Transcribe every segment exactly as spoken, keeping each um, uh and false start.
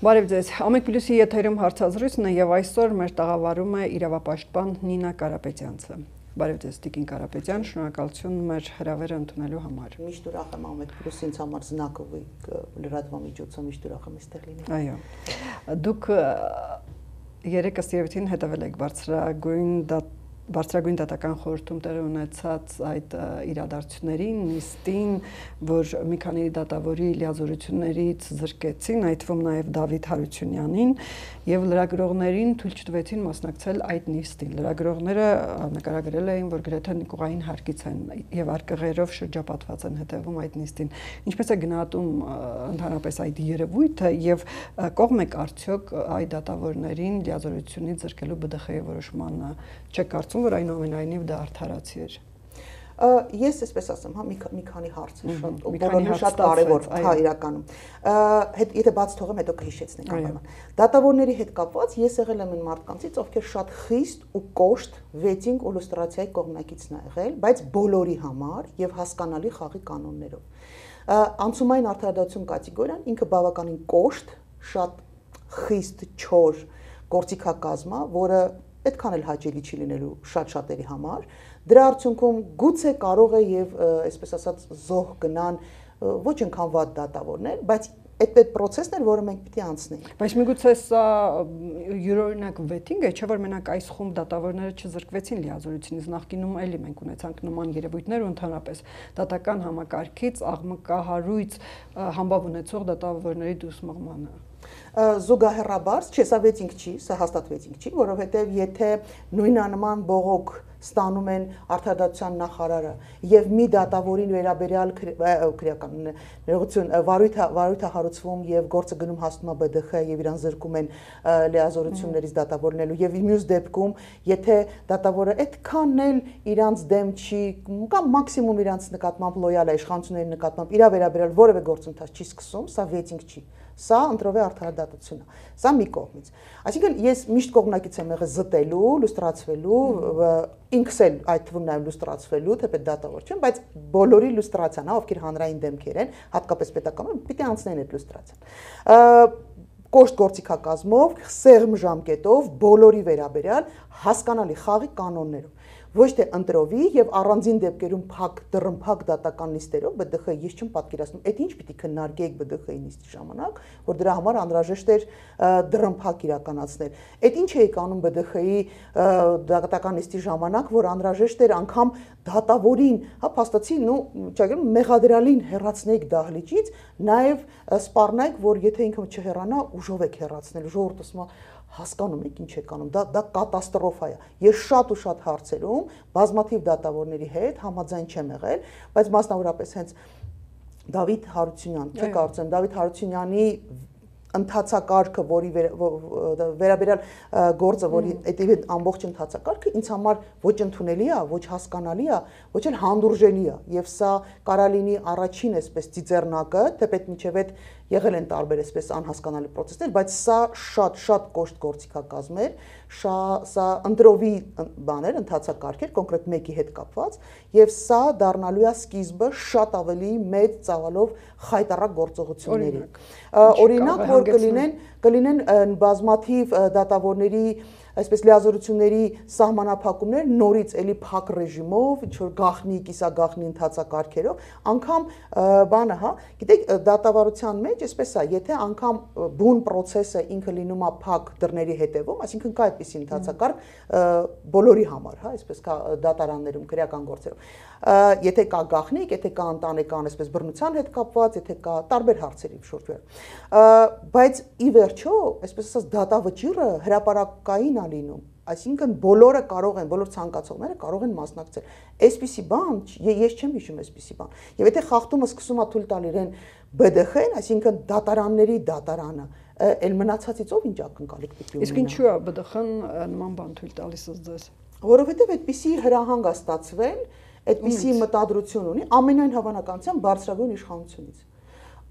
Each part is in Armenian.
Բարև ձեզ, Ամեկ Պլյուսի եթերում հարցազրույցն է եւ այսօր մեր տաղավարում է իրավապաշտպան Նինա Կարապետյանցը։ Բարև ձեզ, Տիկին Կարապետյան, շնորհակալություն մեր հրավերը ընդունելու համար։ Միշտ ուրախ եմ Ամեկ Պլյուսի ինձ համար զնակովի լրատվամիջոցը միշտ ուրախ եմ այստեղ լինել։ Այո։ Դուք երեք ըստ երևույթին հետևել եք բարձրագույն Բարձրագույն դատական խորհրդում տեղի ունեցած այդ իրադարձություններին, նիստին, որ մի քանի դատավորի լիազորություններից զրկեցին, այդ թվում նաև Դավիթ Հարությունյանին, եւ լրագրողներին թույլ չտվեցին մասնակցել այդ նիստին։ Լրագրողները նկարագրել էին, որ գրեթե նիկուղային հարկից են եւ արկղերով շրջապատված են հետևում այդ նիստին։ Ինչպես է գնահատում ընդհանրապես այդ երևույթը եւ կողմ եք արդյոք այդ դատավորներին լիազորությունից զրկելու B D X-ի որոշմանը, չեք կարծում, որ այնուամենայնիվ դա արդարացի էր։ Ես այսպես ասեմ, հա, մի քանի հարց է շատ, բոլորը շատ կարևոր, հա, իրականում։ Եթե բաց թողեմ, հետո կհիշեցնենք անպայման։ Դատավորների հետ կապված ես եղել եմ այն մարդկանցից, ովքեր շատ խիստ ու կոշտ վեթինգ ու լուստրացիայի կողմնակիցն ա եղել, բայց բոլորի համար եւ հասկանալի խաղի կանոններով։ Անցումային արդարադատություն կատեգորիան ինքը բավականին կոշտ, շատ խիստ չոր գործիքակազմ է, որը այդքան էլ հաճելի չի լինելու շատ շատերի համար, դրա արդյունքում գուցե կարող է եւ այսպես ասած զոհ գնան ոչ այնքան վատ դատավորներ, բայց այդ այդ process-ն էր, որը մենք պիտի անցնենք։ Բայց միգուցե սա յուրօրինակ վեթինգ է, չէ՞ որ մենակ այս խումբ դատավորները չզրկվեցին լիազորությունից, նախկինում էլի մենք ունեցանք նման երևույթներ ու ընդհանրապես դատական համակարգից աղմկահարույց համբավ ունեցող դատավորների դուրս մղմանը։ Զուգահեռաբար, չէ, սա վեթինգ չի, սա հաստատ վեթինգ չի, որովհետև եթե նույնանման բողոք ստանում են արդարադատության նախարարը եւ մի դատավորին վերաբերյալ քրեական ներողություն վարույթ է հարուցվում եւ գործը գնում հասնում է B D X եւ իրան զրկում են լիազորություններից դատավորնելու եւ մյուս դեպքում եթե դատավորը այդքան էլ իրանց դեմ չի կամ մաքսիմում իրանց նկատմամբ լոյալ է իշխանությունների նկատմամբ իր վերաբերյալ որևէ գործընթաց չի սկսում, սա վեթինգ չի։ Սա ընտրով է արդարադատություն է։ Սա մի կողմից։ Այսինքն ես միշտ կողմնակից եմ եղել զտելու, լուստրացվելու, ինքս էլ այդ թվում նաև լուստրացվելու, թեպետ դատավոր չեմ, բայց բոլորի լուստրացիան, հա, ովքեր հանրային դեմքեր են, հատկապես պետական, պիտի անցնեն այդ լուստրացիան։ Կոշտ գործիքակազմով, սեղմ ժամկետով, բոլորի վերաբերյալ հասկանալի խաղի կանոններով։ Ոչ թե ընտրովի եւ առանձին դեպքերում փակ դռնփակ դատական նիստերով B D X ես չեմ պատկերացնում, այդ ինչ պիտի քննարկեիք B D X-ի նիստի ժամանակ, որ դրա համար անհրաժեշտ էր դռնփակ իրականացնել։ Այդ ինչ էիք անում B D X-ի դատական նիստի ժամանակ, որ անհրաժեշտ էր անգամ դատավորին, հա, փաստացի, նու, չգիտեմ, մեղադրյալին հեռացնեիք դահլիճից, նաեւ սպառնայիք, որ եթե ինքը չհեռանա, ուժով եք հեռացնել, ժողովուրդը ասում է հասկանում եք ինչ եք անում, դա դա կատաստրոֆա է։ Ես շատ ու շատ հարցերում բազմաթիվ դատավորների հետ համաձայն չեմ եղել, բայց մասնավորապես հենց Դավիթ Հարությունյան, չէ՞ կարծեմ, Դավիթ Հարությունյանի ընթացակարգը, որի վերաբերյալ գործը, որի այդ ամբողջ ընթացակարգը ինձ համար ոչ ընդունելի է, ոչ հասկանալի է, ոչ էլ հանդուրժելի է, եւ սա կարա լինի առաջին այսպես ծիծեռնակը, թեպետ մինչեւ այդ եղել են տարբեր այսպես անհասկանալի process-ներ, բայց սա շատ շատ կոշտ գործիքակազմ էր, սա ընտրովի բաներ, ընթացակարգ էր, կոնկրետ մեկի հետ կապված, եւ սա դառնալու է սկիզբը շատ ավելի մեծ ծավալով խայտառակ գործողությունների։ Օրինակ, որ կլինեն կլինեն բազմաթիվ դատավորների այսպես լիազորությունների սահմանափակումներ նորից էլի փակ ռեժիմով, ինչ որ գախնի, կիսագախնի ընթացակարգերով, անգամ բանը, հա, գիտեք, դատավարության մեջ այսպես է, եթե անգամ բուն process-ը ինքը լինում է փակ դռների հետևում, այսինքն կա այդպիսի ընթացակարգ բոլորի համար, հա, այսպես կա դատարաններում քրեական գործերում։ Եթե կա գախնիկ, եթե կա ընտանեկան այսպես բռնության հետ կապված, եթե կա տարբեր հարցերի շուրջ։ Բայց ի վերջո, այսպես ասած, դատավճիռը հրապարակային է լինում, այսինքն բոլորը կարող են, բոլոր ցանկացողները կարող են մասնակցել։ Այսպիսի բան, ես չեմ հիշում այսպիսի բան։ Եվ եթե խախտումը սկսում է թույլ տալ իրեն B D X-ին, այսինքն դատարանների դատարանը, էլ մնացածից ով ինչ ակնկալիք պիտի ունենա։ Իսկ ինչու է B D X-ն նման բան թույլ տալիս ձեզ։ Որովհետև այդպիսի հրահանգ է ստացվել, այդպիսի մտադրություն ունի ամենայն հավանականությամբ բարձրագույն իշխանությունից։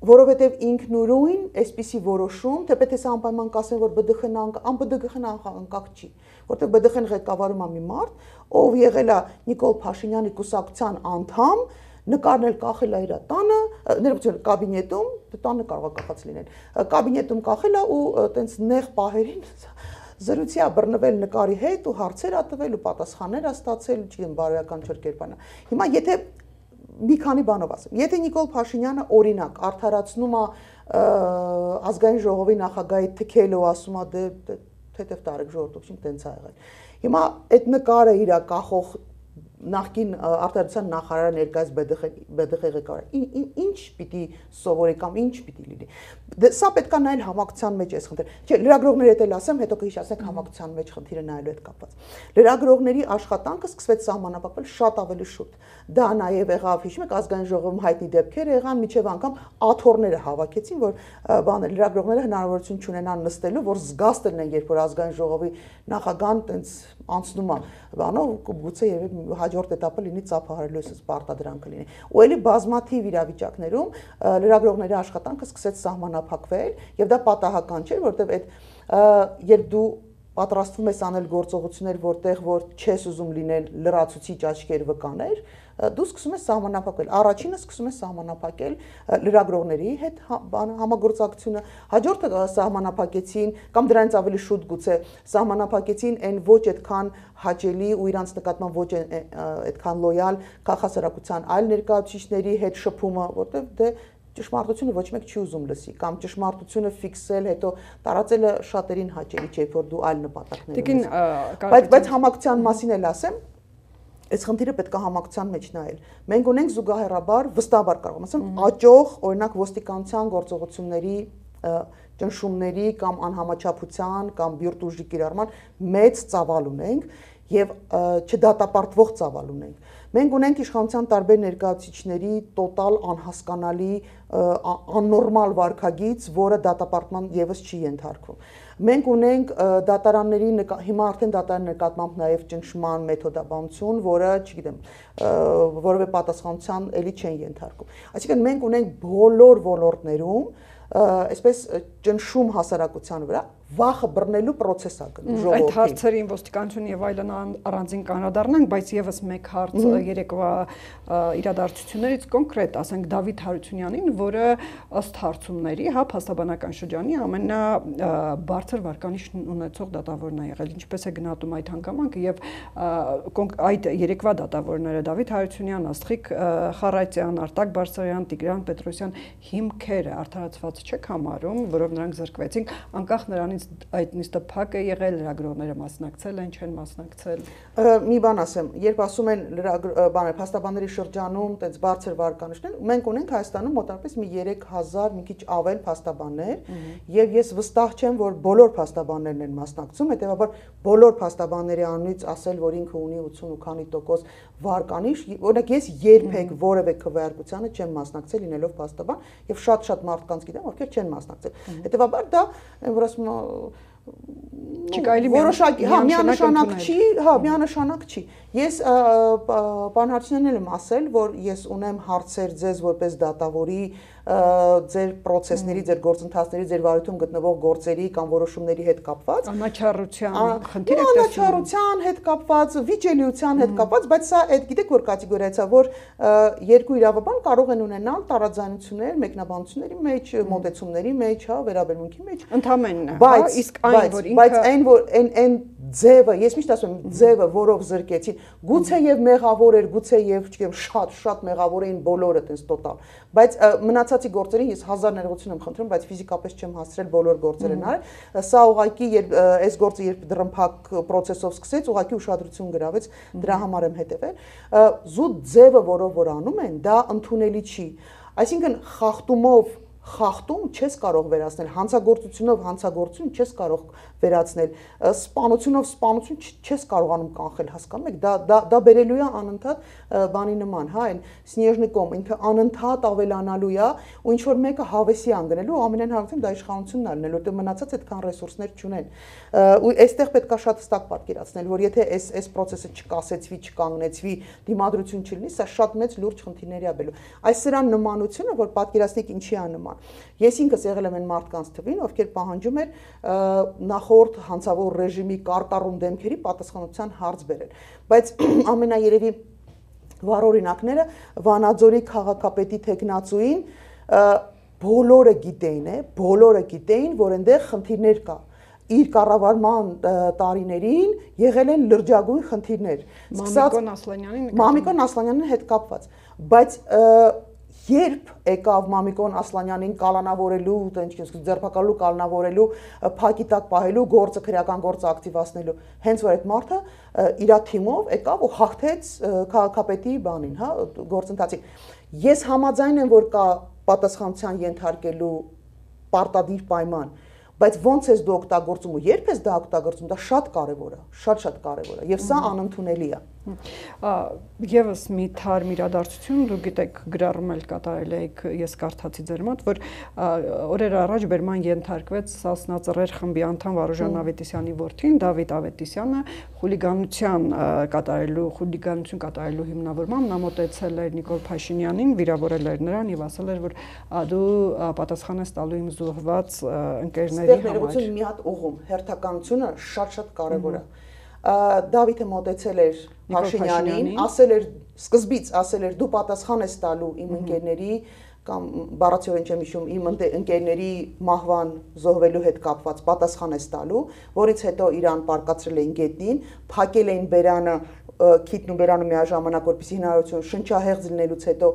Որովհետև ինքնուրույն այսպիսի որոշում, թեպետ ես անպայման կասեմ, որ B D X-ն ան B D X-ն անկախ չի, որտեղ B D X-ն ղեկավարում է մի մարդ, ով եղել է Նիկոլ Փաշինյանի կուսակցության անդամ, նկարն էլ կախել է իր տանը, ներողություն, կաբինետում, տանը կարող է կախած լինել, կաբինետում կախել է ու տենց նեղ պահերին զրույցի է բռնվել նկարի հետ ու հարցեր ա տվել ու պատասխաններ ա ստացել, չգիտեմ, բարոյական չոր կերպանա։ Հիմա եթե մի քանի բանով ասեմ, եթե Նիկոլ Փաշինյանը օրինակ արդարացնում է ազգային ժողովի նախագահի թքել ու ասում է դե թեթև տարեք ժողովրդին տենց ա եղել։ Հիմա այդ նկարը իր կախող նախկին արտադրության նախարարը ներկայիս ԲԴԽ ղեկավարը ինչ պիտի սովորի կամ ինչ պիտի լինի։ Սա պետք է նայել համակցության մեջ էս խնդիրը։ Չէ, լրագրողների հետ էլ ասեմ, հետո կհիշեցեք համակցության մեջ խնդիրը նայելու հետ կապված։ Լրագրողների աշխատանքը սկսվեց սահմանափակվել շատ ավելի շուտ։ Դա նաև եղավ, հիշում եք, ազգային ժողովում հայտնի դեպքեր եղան, միջև անգամ աթոռները հավաքեցին, որ բանը լրագրողները հնարավորություն չունենան նստելու, որ զգաստ լինեն, երբ որ ազգային ժողովի նախագահան տենց անցնում է բանով, գուցե երևի հաջորդ этаպը լինի ծափահարելու էս պարտադրանքը լինի։ Ու էլի բազմաթիվ իրավիճակներում լրագրողների աշխատանքը սկսեց սահմանափակվել, եւ դա պատահական չէր, որովհետեւ այդ երբ դու պատրաստվում ես անել գործողություններ, որտեղ որ չես ուզում լինել լրացուցիչ աչքեր վկաներ, դու սկսում ես սահմանափակել։ Առաջինը սկսում ես սահմանափակել լրագրողների հետ համագործակցությունը, հաջորդը սահմանափակեցին կամ դրանից ավելի շուտ գուցե սահմանափակեցին այն ոչ այդքան հաճելի ու իրանց նկատմամբ ոչ այդքան լոյալ քաղաքասարակության այլ ներկայացուցիչների հետ շփումը, որտեղ դե ճշմարտությունը ոչ մեկ չի ուզում լսի կամ ճշմարտությունը ֆիքսել, հետո տարածելը շատերին հաճելի չէ, որ դու այլ նպատակներ ունես։ Բայց բայց համակցության մասին էլ ասեմ, այս խնդիրը պետք է համակցության մեջ նայել։ Մենք ունենք զուգահեռաբար, վստահաբար կարող եմ ասեմ, աճող, օրինակ ոստիկանության գործողությունների ճնշումների կամ անհամաչափության կամ բյուրդ ուժի կիրառման մեծ ծավալ ունենք եւ չդատապարտվող ծավալ ունենք։ Մենք ունենք իշխանության տարբեր ներկայացուցիչների տոտալ անհասկանալի աննորմալ վարքագիծ, որը դատապարտման եւս չի ենթարկվում։ Մենք ունենք դատարանների հիմա արդեն դատարանի նկատմամբ նաև ճնշման մեթոդաբանություն, որը, չգիտեմ, որևէ պատասխանատվության էլի չեն ենթարկում։ Այսինքն մենք ունենք բոլոր ոլորտներում այսպես ճնշում հասարակության վրա վախը բռնելու process է գնում ժողովրդին։ Այդ հարցերին ոստիկանություն եւ այլն առանձին կանադառնանք, բայց եւս մեկ հարց երեկվա իրադարձություններից կոնկրետ, ասենք Դավիթ Հարությունյանին, որը ըստ հարցումների, հա, փաստաբանական շրջանի ամենաբարձր վարկանիշն ունեցող դատավորն է եղել։ Ինչպես է գնահատում այդ հանգամանքը եւ այդ երեկվա դատավորները Դավիթ Հարությունյան, Աստղիկ Խառատյան, Արտակ Բարսարյան, Տիգրան Պետրոսյան հիմքերը արդարացված չեք համարում, որով նրանք զրկվեցին, անկախ նրանից այդ նիստը փակ է եղել, լրագրողները մասնակցել են, չեն մասնակցել։ Մի բան ասեմ, երբ ասում են բաներ, փաստաբանների շրջանում տենց բարձր վարկանիշներ, մենք ունենք Հայաստանում մոտավորապես մի երեք հազար, մի քիչ ավել փաստաբաններ, եւ ես վստահ չեմ, որ բոլոր փաստաբաններն են մասնակցում, հետեւաբար բոլոր փաստաբանների անունից ասել, որ ինքը ունի ութսուն ու քանի տոկոս վարկանիշ, օրինակ ես երբեք որևէ քվեարկությանը չեմ մասնակցել լինելով փաստաբան, եւ շատ-շատ մարդկանց գիտեմ, ովքեր չեն մասնակցել։ Հետեւաբար դա որ ասում որոշակի, հա, միանշանակ չի, հա, միանշանակ չի։ Ես պարոն Հարությունյանն եմ ասել, որ ես ունեմ հարցեր ձեզ որպես դատավորի, ձեր process-ների, ձեր գործընթացների, ձեր վարույթում գտնվող գործերի կամ որոշումների հետ կապված, անաչառության խնդիր եք տեսնում։ Անաչառության հետ կապված, վիճելիության հետ կապված, բայց սա այդ գիտեք որ կատեգորիա է, որ երկու իրավաբան կարող են ունենալ տարաձայնություններ մեկնաբանությունների մեջ, մոտեցումների մեջ, հա, վերաբերմունքի մեջ։ Ընդհանրապես, հա, իսկ այն որ ինքը բայց այն որ այն այն ձևը, ես միշտ ասում եմ, ձևը, որով զրկեցին, գուցե եւ մեղավոր էր, գուցե եւ, չգիտեմ, շատ շատ մեղավոր էին բոլորը տես տոտալ, բայց մնացածի գործերին ես հազար ներողություն եմ խնդրում, բայց ֆիզիկապես չեմ հասցրել բոլոր գործերը նայել, սա ուղղակի երբ այս գործը երբ դրմփակ process-ով սկսեց, ուղղակի ուշադրություն գրավեց, դրա համար եմ հետևել, զուտ ձևը, որով որ անում են, դա ընդունելի չի, այսինքն խախտումով խախտում չես կարող վերացնել, հանցագործությունով հանցագործություն չես կարող վերացնել, սպանությունով սպանություն չես կարողանում կանխել, հասկանում եք, դա դա դա բերելու է անընդհատ բանի նման, հա, այն Սնեժնիկոմ, ինքը անընդհատ ավելանալու է, ու ինչ որ մեկը հավեսի անգնելու, ամենայն հարցում դա իշխանությունն է լինելու, որտեղ մնացած այդքան ռեսուրսներ չունեն։ Ու այստեղ պետք է շատ հստակ պատկերացնել, որ եթե այս այս process-ը չկասեցվի, չկանգնեցվի, դիմադրություն չլինի, սա շատ մեծ լուրջ խնդիրների է բերելու։ Այս սրան նմանությունը, որ պատկերացնեք ինչի է նման։ Ես ինքս եղել եմ այն մարդկանց թվին, ովքեր պահանջում էր նախորդ հանցավոր ռեժիմի կարտառուն դեմքերի պատասխանատվության հարց բերել, բայց ամենաերևի վառօրինակները Վանաձորի քաղաքապետի տեխնացուին բոլորը գիտեին, է, բոլորը գիտեին, որ այնտեղ խնդիրներ կա։ Իր կառավարման տարիներին եղել են լրջագույն խնդիրներ։ Մամիկոն Ասլանյանին Մամիկոն Ասլանյանին հետ կապված, բայց երբ եկավ Մամիկոն Ասլանյանին կալանավորելու, ձերբակալելու, կալանավորելու, փակի տակ պահելու, գործը քրեական գործը ակտիվացնելու, հենց որ այդ մարդը իր թիմով եկավ ու հաղթեց քաղաքապետի բանին, հա, գործընթացին։ Ես համաձայն եմ, որ կա պատասխանության ենթարկելու պարտադիր պայման, բայց ոնց ես դու օգտագործում ու երբ ես դա օգտագործում, դա շատ կարևոր է, շատ-շատ կարևոր է, եւ սա անընդունելի է։ Եվս մի թարմ իրադարձություն, դու գիտեք, գրառում էլ կատարել եք, ես կարդացի ձեր մոտ, որ օրեր առաջ բերման ենթարկվեց Սասնածռեր խմբի անդամ Վարուժան Ավետիսյանի որդին Դավիթ Ավետիսյանը խուլիգանության կատարելու, խուլիգանություն կատարելու հիմնավորմամբ նա մոտեցել էր Նիկոլ Փաշինյանին, վիրավորել էր նրան եւ ասել էր, որ դու պատասխան ես տալու իմ զոհված ընկերների համար։ Մի հատ ուղում, հերթականությունը շատ-շատ կարևոր է։ Դավիթը մոտեցել էր Փաշինյանին, ասել էր սկզբից ասել էր դու պատասխան ես տալու իմ ընկերների կամ բառացիորեն չեմ հիշում իմ ընկերների մահվան զոհվելու հետ կապված պատասխան ես տալու, որից հետո իրան պարկացրել էին գետնին, փակել էին բերանը քիթն ու բերանը միաժամանակ, որպեսզի հնարավորություն շնչահեղձ լինելուց հետո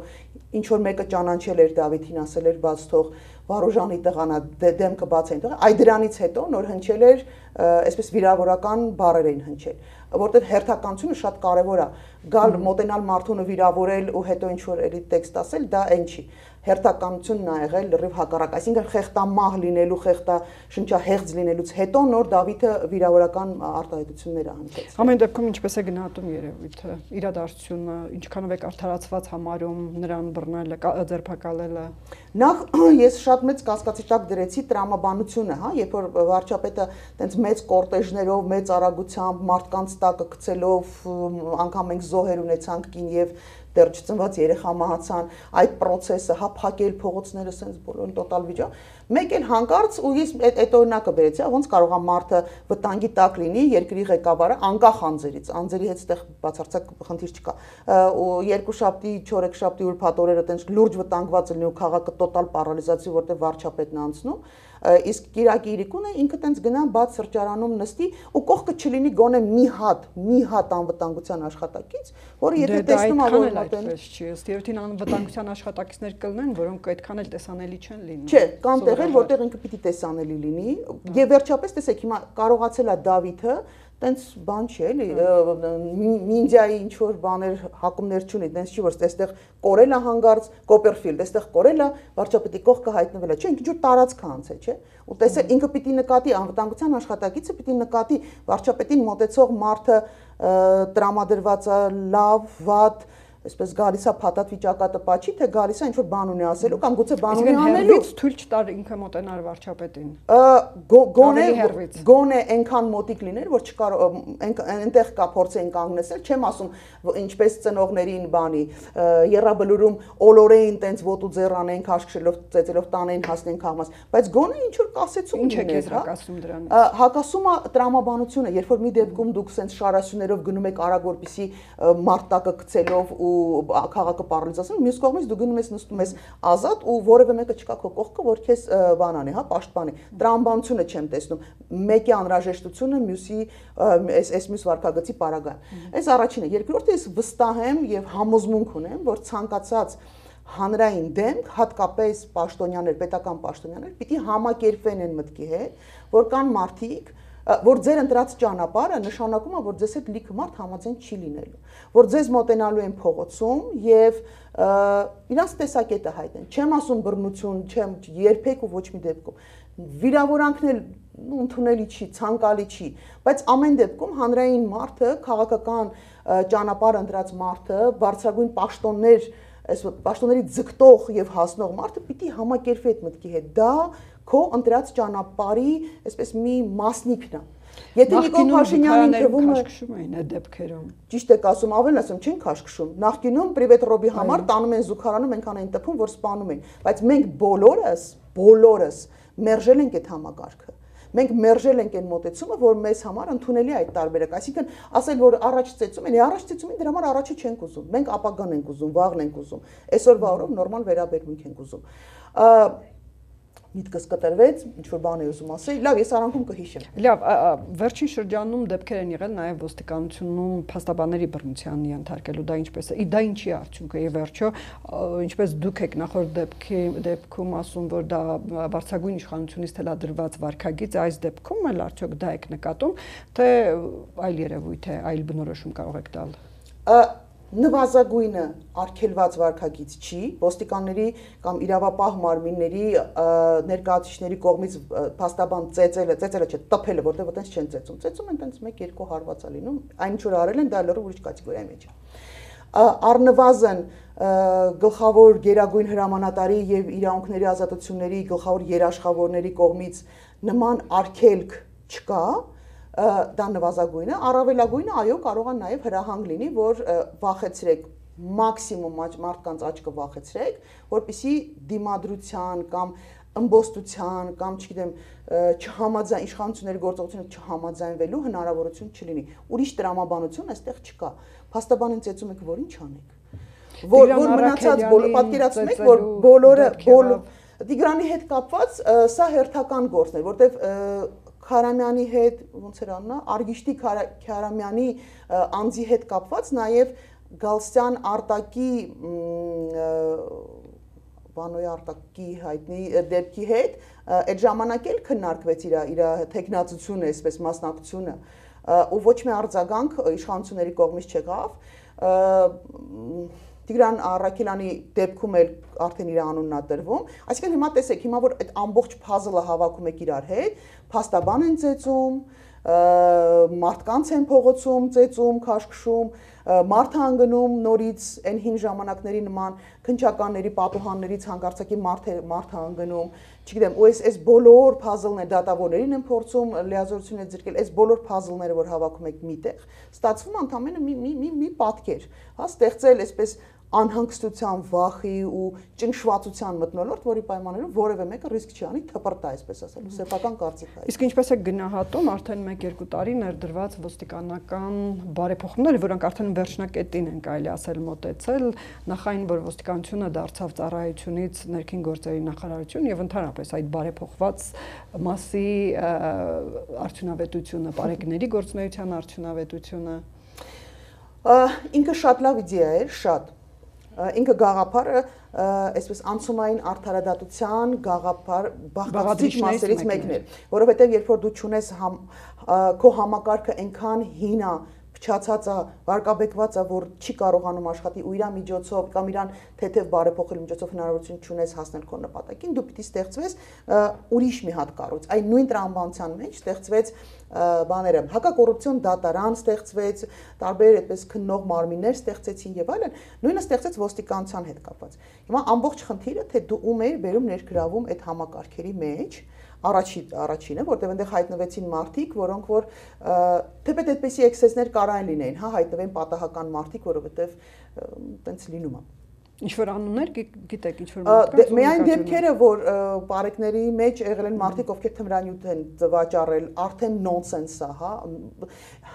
ինչ որ մեկը ճանաչել էր Դավիթին, ասել էր բաց թող Վարուժանի տղանա դեմքը բաց էին տղա, այդ դրանից հետո նոր հնչել էր այսպես վիրավորական բառեր էին հնչել, որտեղ հերթականությունը շատ կարևոր է, գալ մոտենալ մարդուն ու վիրավորել ու հետո ինչ որ էլի տեքստ ասել, դա այն չի, հերթականությունն ա եղել լրիվ հակառակ, այսինքն խեղտամահ լինելու, խեղտա շնչահեղձ լինելուց հետո նոր Դավիթը վիրավորական արտահայտություններ ա հնչեցրել։ Ամեն դեպքում ինչպես է գնահատում երևույթը, իրադարձությունը, ինչքանով է արդարացված համարում նրան բռնելը, ձերբակալելը։ Նախ ես շատ մեծ կասկածի տակ դրեցի տրամաբանությունը, հա, երբ որ վարչապետը տենց մեծ կորտեժներով, մեծ արագությամբ, մարդկանց տակը գցելով, անգամ մենք զոհեր ունեցանք կին եւ դեռ չծնված երեխա մահացան, այդ process-ը, հա, փակել փողոցները, սենց բոլորն տոտալ վիճակ։ Մեկ էլ հանկարծ ու ես այդ օրինակը բերեցի, ոնց կարող է մարդը վտանգի տակ լինի, երկրի ղեկավարը անկախ անձերից, անձերի հետ այդտեղ բացարձակ խնդիր չկա։ Ու երկուշաբթի, չորեքշաբթի ուրբաթ օրերը տենց լուրջ վտանգված լինի ու քաղաքը տոտալ պարալիզացիա, որտեղ վարչապետն անցնում, իսկ Կիրակի իրիկունը ինքը տենց գնա բաց սրճարանում նստի ու կողքը չլինի գոնե մի հատ, մի հատ անվտանգության աշխատակից, որը եթե տեսնում ա որ այդպես չի, ըստ երևույթին անվտանգության աշխատակիցներ կլինեն, որոնք այդքան էլ տեսանելի չեն լինում։ Չէ, կան տեղեր, որտեղ ինքը պիտի տեսանելի լինի, եւ վերջապես տեսեք հիմա կարողացել է Դավիթը տենց բան չի էլի նինդզյայի ինչ որ բաներ հակումներ չունի, տենց չի որ այստեղ կորել է հանգարց Կոպերֆիլդ, այստեղ կորել է վարչապետի կողքը հայտնվել է, չէ, ինչ որ տարածք անց է, չէ։ Ու տեսեք ինքը պիտի նկատի անվտանգության աշխատակիցը պիտի նկատի վարչապետին մոտեցող մարդը տրամադրված է լավ, վատ այսպես գալիս է փաթաթ վիճակատպաչի, թե գալիս է ինչ որ բան ունի ասելու կամ գուցե բան ունի անելու։ Թույլ չտար ինքը մոտենար վարչապետին։ Գոնե գոնե այնքան մոտիկ լիներ, որ չկարող այնտեղ կա փորձեն կանգնեցել, չեմ ասում ինչպես ծնողներին բանի երրաբլուրում օլորեին տենց ոտու ձեռանեն քաշքշելով ծեծելով տանեն հասնեն քաղաք, բայց գոնե ինչ որ կասեցում ինչ է կեզրակացում դրանից։ Հակասումը տրամաբանությունը, երբ որ մի դեպքում դուք սենց շարասյուներով գնում եք արագ որպեսի մարտակը գցելով ու քաղաքը պարալիզացնում, մյուս կողմից դու գնում ես նստում ես ազատ ու որևէ մեկը չկա քո կողքը, որ քեզ բանանի, հա, պաշտպանի։ Տրամաբանությունը չեմ տեսնում։ Մեկի անհրաժեշտությունը, մյուսի այս այս մյուս վարքագծի պարագան։ Այս առաջինը, երկրորդը ես վստահ եմ եւ համոզմունք ունեմ, որ ցանկացած հանրային դեմք, հատկապես պաշտոնյաներ, պետական պաշտոնյաներ, պիտի համակերպվեն այն մտքի հետ, որ կան մարդիկ, որ ձեր ընտրած ճանապարհը նշանակում է, որ ձեզ հետ լիքը մարդ համաձայն չի լինելու, որ ձեզ մոտենալու են փողոցում եւ իրանց տեսակետը հայտնեն։ Չեմ ասում բռնություն, չեմ երբեք ու ոչ մի դեպքում։ Վիրավորանքն էլ ընդունելի չի, ցանկալի չի, բայց ամեն դեպքում հանրային մարդը, քաղաքական ճանապարհ ընտրած մարդը, բարձրագույն պաշտոններ, այս պաշտոնների ձգտող եւ հասնող մարդը պիտի համակերպվի այդ մտքի հետ։ Դա քո ընտրած ճանապարհի այսպես մի մասնիկն է։ Եթե Նիկոլ Փաշինյանին թվում է քաշքշում էին այդ դեպքերում։ Ճիշտ եք ասում, ավելին ասում, չեն քաշքշում։ Նախկինում Պրիվետ Ռոբի համար տանում են զուգարանում, այնքան են տպում, որ սպանում են, բայց մենք բոլորս, բոլորս մերժել ենք այդ համակարգը։ մենք մերժել ենք այն մոտեցումը, որ մեզ համար ընդունելի է այդ տարբերակը, այսինքն ասել, որ առաջ ծեծում են, առաջ ծեծումին դրա համար առաջը չենք ուզում, մենք ապագան ենք ուզում, վաղն ենք ուզում, այսօրվա օրով նորմալ վերաբերմունք ենք ուզում։ Միտքս կտրվեց, ինչ-որ բան է ուզում ասել, լավ, ես արանքում կհիշեմ։ Լավ, վերջին շրջանում դեպքեր են եղել նաև ոստիկանությունում փաստաբանների բռնության ենթարկելու, դա ինչպես է, դա ինչի արդյունք է, եւ վերջո, ինչպես դուք եք նախորդ դեպքի դեպքում ասում, որ դա բարձրագույն իշխանությունից թելադրված վարքագիծ է, այս դեպքում էլ արդյոք դա եք նկատում, թե այլ երևույթ է, այլ բնորոշում կարող եք տալ։ Նվազագույնը արգելված վարքագիծ չի, ոստիկանների կամ իրավապահ մարմինների ներկայացուցիչների կողմից փաստաբան ծեծելը, ծեծելը չէ, տփելը, որտեղ այտենց չեն ծեծում, ծեծում են այտենց մեկ-երկու հարված է լինում, այն ինչ որ արել են, դա լրիվ ուրիշ կատեգորիայի մեջ է։ Առնվազն գլխավոր գերագույն հրամանատարի եւ իրավունքների ազատությունների գլխավոր երաշխավորների կողմից նման արգելք չկա, դա նվազագույնը, առավելագույնը այո կարող է նաև հրահանգ լինի, որ վախեցրեք, մաքսիմում մարդկանց աչքը վախեցրեք, որպեսզի դիմադրության կամ ըմբոստության կամ չգիտեմ չհամաձայն իշխանությունների գործողությունը չհամաձայնվելու հնարավորություն չլինի։ Ուրիշ տրամաբանություն այստեղ չկա։ Փաստաբանին ծեծում եք, որ ինչ անեք։ Որ որ մնացած բոլորը պատկերացնում եք, որ բոլորը Տիգրանի հետ կապված սա հերթական գործն է, որտեվ Քարամյանի հետ, ոնց էր անունը, Արգիշտի Քարամյանի անձի հետ կապված նաև Գալստյան Արտակի Վանոյի Արտակի հայտնի դեպքի հետ այդ ժամանակ էլ քննարկվեց իր իր տեխնացությունը, այսպես մասնակցությունը, ու ոչ մի արձագանք իշխանությունների կողմից չեղավ։ Տիգրան Առաքելյանի դեպքում էլ արդեն իր անունն է տրվում, այսինքն հիմա տեսեք, հիմա որ այդ ամբողջ puzzle-ը հավաքում եք իրար հետ, փաստաբան են ծեծում, մարդկանց են փողոցում ծեծում, քաշքշում, մարդ հանգնում նորից այն հին ժամանակների նման քնչականների, պատուհաններից հանկարծակի մարդ մարդ հանգնում, չգիտեմ, ու այս այս բոլոր puzzle-ները դատավորներին են փորձում լիազորություն է ձգել, այս բոլոր puzzle-ները որ հավաքում եք միտեղ, ստացվում ընդամենը մի մի մի մի պատկեր, հա, ստեղծել այսպես անհանգստության, վախի ու ճնշվածության մթնոլորտ, որի պայմաններում որևէ մեկը ռիսկ չի անի թպրտա, այսպես ասելու, սեփական կարծիք է։ Իսկ ինչպես է գնահատում արդեն մեկ-երկու տարի ներդրված ոստիկանական բարեփոխումները, որոնք արդեն վերջնակետին են կարելի ասել մոտեցել, նախ այն, որ ոստիկանությունը դարձավ ծառայությունից ներքին գործերի նախարարություն եւ ընդհանրապես այդ բարեփոխված մասի արդյունավետությունը, բարեկների գործունեության արդյունավետությունը։ Ինքը շատ լավ իդեա էր, շատ ինքը գաղափարը այսպես անցումային արդարադատության գաղափար բաղկացիչ մասերից մեկն է, որովհետև երբ որ դու ճունես քո համակարգը այնքան հին է, փչացած է, վարկաբեկված է, որ չի կարողանում աշխատի ու իր միջոցով կամ իրան թեթև բարեփոխելու միջոցով հնարավորություն չունես հասնել քո նպատակին, դու պիտի ստեղծվես ուրիշ մի հատ կառույց։ Այն նույն տրամաբանության մեջ ստեղծվեց բաները, հակակոռուպցիոն դատարան ստեղծվեց, տարբեր այդպես քննող մարմիններ ստեղծեցին եւ այլն, նույնը ստեղծեց ոստիկանության հետ կապված։ Հիմա ամբողջ խնդիրը թե դու ում ես բերում ներգրավում այդ համակարգերի մեջ, առաջի առաջինը, որտեղ այնտեղ հայտնվեցին մարդիկ, որոնք որ թեպետ այդպեսի էքսեսներ կարային լինեին, հա, հայտնվեն պատահական մարդիկ, որովհետեւ տենց լինում է։ Ինչ որ անուններ գիտեք, ինչ որ մարդկանց։ Միայն դեպքերը, որ բարեկների մեջ եղել են մարդիկ, ովքեր թմրանյութ են վաճառել, արդեն նոնսենս է, հա։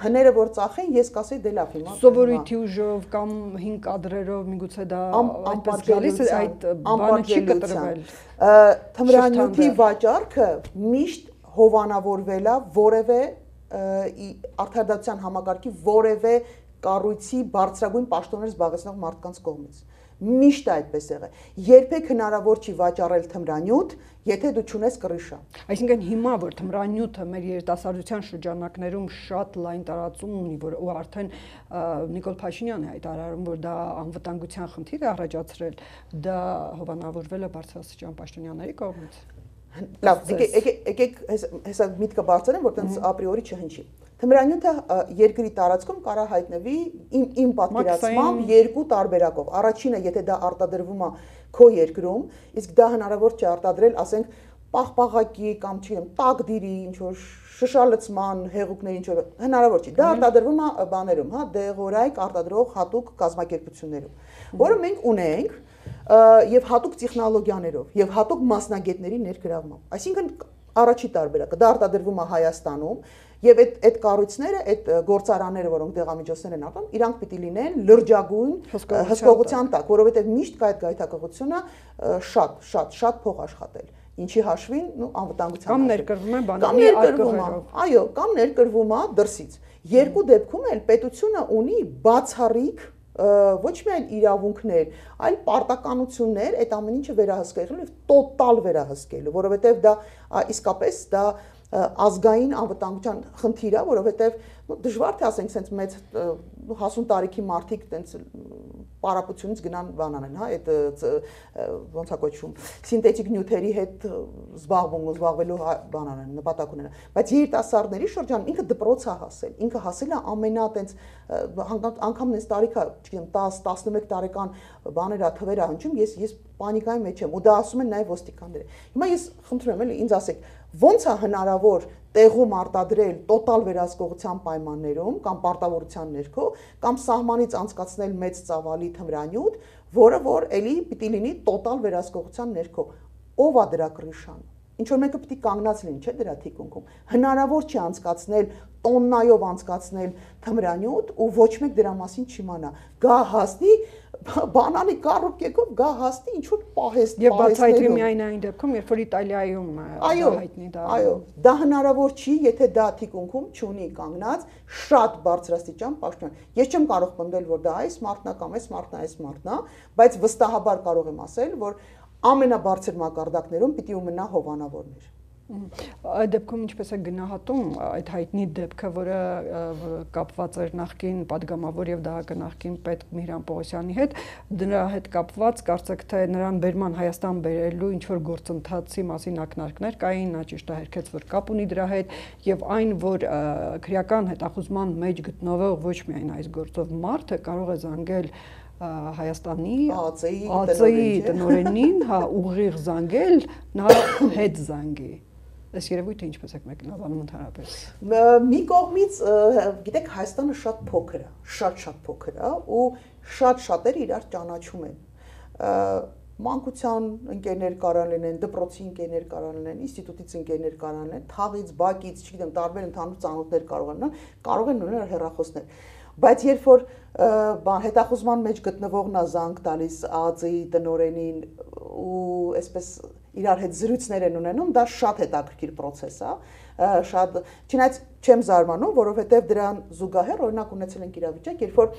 Հները որ ծախեն, ես կասեի դե լավ հիմա։ Սովորույթի ուժով կամ հին կադրերով միգուցե դա այդպես գալիս է, այդ բանը չի կտրվել։ Թմրանյութի վաճառքը միշտ հովանավորվել է որևէ արդարադատության համակարգի որևէ կառույցի բարձրագույն պաշտոններ զբաղեցնող մարդկանց կողմից։ Միշտ այդպես եղել։ Երբեք հնարավոր չի վաճառել թմրանյութ, եթե դու չունես կռիշա։ Այսինքն հիմա որ թմրանյութը մեր երիտասարդության շրջանակներում շատ լայն տարածում ունի, որ ու արդեն Նիկոլ Փաշինյանը հայտարարում, որ դա անվտանգության խնդիր է առաջացրել, դա հովանավորվել է բարձրաստիճան պաշտոնյաների կողմից։ Լավ, եկեք հեսա միտքը բարձրացնեմ, որ տենց ապրիորի չհնչի։ Թմրանյութը երկրի տարածքում կարա հայտնվի իմ իմ պատկերացմամբ երկու տարբերակով։ Առաջինը, եթե դա արտադրվում է քո երկրում, իսկ դա հնարավոր չի արտադրել, ասենք, պաղպաղակի կամ չգիտեմ, տակդիրի, ինչ որ շշալցման հեղուկների ինչ որ հնարավոր չի։ Դա արտադրվում է բաներում, հա, դեղորայք արտադրող հատուկ կազմակերպություններում, որը մենք ունենք եւ հատուկ տեխնոլոգիաներով եւ հատուկ մասնագետների ներգրավմամբ։ Այսինքն Առաջի տարբերակը դա արտադրվում է Հայաստանում եւ այդ այդ կառույցները, այդ գործարանները, որոնք դեղամիջոցներ են արտադրում, իրանք պիտի լինեն լրջագույն հսկողության տակ, որովհետեւ միշտ կա այդ գայթակղությունը շատ, շատ, շատ փող աշխատել։ Ինչի հաշվին, ну, անվտանգության կամ ներկրվում է բանանի արկղերով։ Այո, կամ ներկրվում է դրսից։ Երկու դեպքում էլ պետությունը ունի բացառիկ ոչ միայն իրավունքներ, այլ պարտականություններ այդ ամեն ինչը վերահսկելու եւ տոտալ վերահսկելու, որովհետեւ դա իսկապես դա ազգային անվտանգության խնդիր է, որովհետեւ դժվար թե ասենք sense մեծ հասուն տարիքի մարդիկ տենց պարապությունից գնան բան անեն, հա, այդ ոնց է կոչվում, սինթետիկ նյութերի հետ զբաղվում, զբաղվելու բան անեն, նպատակ ունենան, բայց երիտասարդների շրջանում ինքը դպրոց է հասել, ինքը հասել է ամենա տենց անգամ նենց տարիքա, չգիտեմ, տասը տասնմեկ տարեկան բաներ է, թվեր է հնչում, ես ես պանիկայի մեջ եմ, ու դա ասում են նաև ոստիկանները։ Հիմա ես խնդրում եմ, էլի ինձ ասեք, ոնց է հնարավոր տեղում արտադրել տոտալ վերահսկողության պայմաններում կամ պարտավորության ներքո կամ սահմանից անցկացնել մեծ ծավալի թմրանյութ, որը որ էլի պիտի լինի տոտալ վերահսկողության ներքո։ Ով է դրա կռիվը։ Ինչ որ մեկը պիտի կանգնած լինի, չէ՞ դրա թիկունքում։ Հնարավոր չի անցկացնել տոննայով անցկացնել թմրանյութ ու ոչ մեկ դրա մասին չիմանա։ Գա հասնի բանանի կառուկեկով գա հասնի ինչ որ պահեստ եւ բացայթի միայն այն դեպքում, երբ որ Իտալիայում հայտնի դա։ Այո, դա հնարավոր չի, եթե դա թիկունքում չունի կանգնած շատ բարձրաստիճան պաշտպան։ Ես չեմ կարող պնդել, որ դա այս մարդն է կամ այս մարդն է, այս մարդն է, բայց վստահաբար կարող եմ ասել, որ ամենաբարձր մակարդակներում պիտի ունենա հովանավորներ։ Այդ դեպքում ինչպես է գնահատում այդ հայտնի դեպքը, որը կապված էր նախկին падգամավոր եւ դահակը նախկին պետ Միհրան Պողոսյանի հետ, դրա հետ կապված կարծեք թե նրան բերման Հայաստան բերելու ինչ որ գործընթացի մասին ակնարկներ կային, նա ճիշտ է հերքեց, որ կապ ունի դրա հետ եւ այն, որ քրեական հետախուզման մեջ գտնվող ոչ միայն այս գործով մարդը կարող է զանգել Հայաստանի ԱԾ-ի տնօրենին, հա, ուղիղ զանգել, նա հետ զանգի։ Այս երևույթը ինչպես եք մեկնաբանում ընդհանրապես։ Մի կողմից, գիտեք, Հայաստանը շատ փոքր է, շատ-շատ փոքր է ու շատ շատերը իրար ճանաչում են։ Մանկության ընկերներ կարող լինեն, դպրոցի ընկերներ կարող լինեն, ինստիտուտից ընկերներ կարող լինեն, թաղից, բակից, չգիտեմ, տարբեր ընդհանուր ծանոթներ կարող են, կարող են ունենալ հեռախոսներ։ Բայց երբ որ բան հետախուզման մեջ գտնվողն է զանգ տալիս ԱԱԾ-ի տնօրենին ու այսպես իրար հետ զրույցներ են ունենում, դա շատ հետաքրքիր process է, շատ չնայած չեմ զարմանում, որովհետև դրան զուգահեռ օրինակ ունեցել ենք իրավիճակ, երբ որ